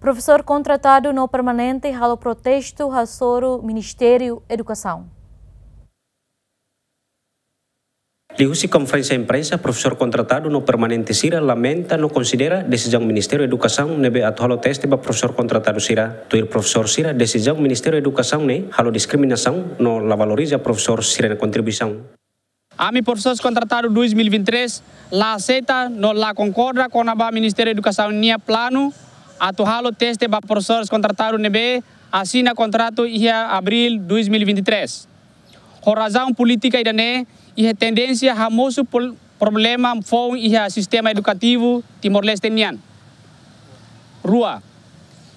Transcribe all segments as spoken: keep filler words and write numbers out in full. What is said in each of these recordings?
Profesór kontratadu no permanente halo protestu hasoru Ministériu Edukasaun. Liuhusi konferénsia imprensa, profesór kontratadu no permanente sira lamenta no konsidera desizaun Ministériu Edukasaun ne'ebé atu halo teste ba profesór kontratadu sira. Tuir profesór sira, desizaun Ministériu Edukasaun ne'e halo diskriminasaun no la valoriza profesór sira-nia kontribuisaun. Ami profesores kontratadu dois mil e vinte e três la aseita no la konkorda kona-ba Ministériu Edukasaun nia planu atu halo teste ba profesores kontratadu ne'ebé asina kontratu iha abríl dois mil e vinte e três. Ho razaun polítika ida-ne'e, iha tendénsia hamosu pol-, problema foun iha sistema edukativu Timor-Leste nian. Rua,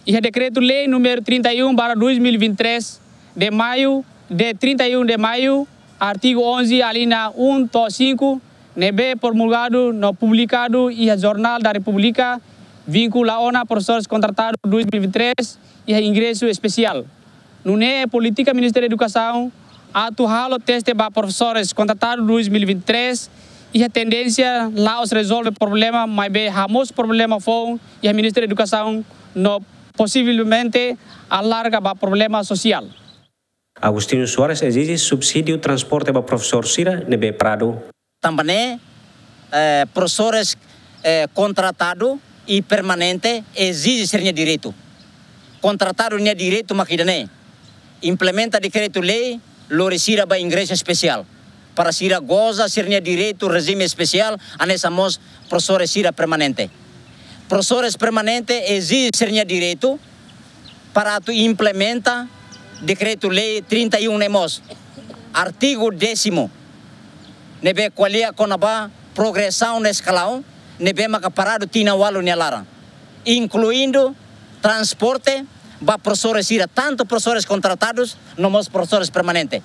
iha dekretu-lei número trinta e um barra dois mil e vinte e três, de maio, de trinta e um de maio, artigu onze, alínea um to'o cinco, ne'ebé promulgadu no publikadu iha Jornál da Repúblika, vinkula ona profesores kontratadu dois mil e vinte e três iha ingresu espesiál. Nune'e polítika Ministériu Edukasaun atu halo teste ba profesores kontratadu dois mil e vinte e três iha tendénsia la'ós rezolve problema, maibé hamosu problema foun iha Ministériu Edukasaun no posivelmente alarga ba problema sosiál. Agostinho Soares ezije subsídiu transporte ba profesór sira ne'ebé paradu. Tanba ne'e, eh, profesores, eh, kontratadu i permanente ezije sira-nia direitu. Kontratadu nia direitu mak ida-ne'e: implementa dekretu-lei, lori sira ba ingresu espesiál, para sira goza sira-nia direitu rejime espesiál, hanesan mós profesores sira permanente. Profesores permanente ezije sira-nia direitu para atu implementa dekretu-lei trinta e um ne'e mós. Artigu décimo, ne'ebé ko'alia kona-ba progresaun no eskalaun, ne'ebé maka paradu tinan ualu nia laran, inkluindu transporte ba profesores sira, tantu profesores kontratadus no mós profesores permanente.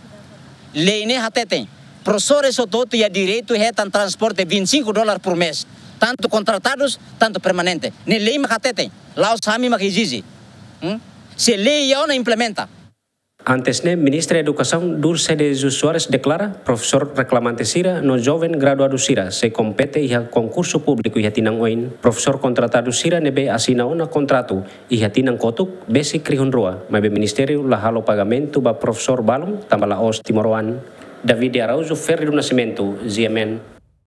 Lei ne'e hateten, profesores hotu-hotu iha direitu hetan transporte vinte e cinco dólar por mês, tantu kontratadus, tantu permanente. Ne'e lei mak hateten, la'ós ami mak ezije. Hmm? Se lei iha ona, implementa. Antes ne'e, Ministra Edukasaun, Dulce de Jesus Soares, deklara profesór reklamante sira no joven graduadu sira sei kompete iha konkursu públiku iha tinan oin. Profesór kontratadu sira ne'ebé asina ona kontratu iha tinan kotuk besik rihun rua, maibé ministériu la halo pagamentu ba profesór balun tanba la'ós timoroan. David de Araújo, Ferreira do Nascimento, G M N.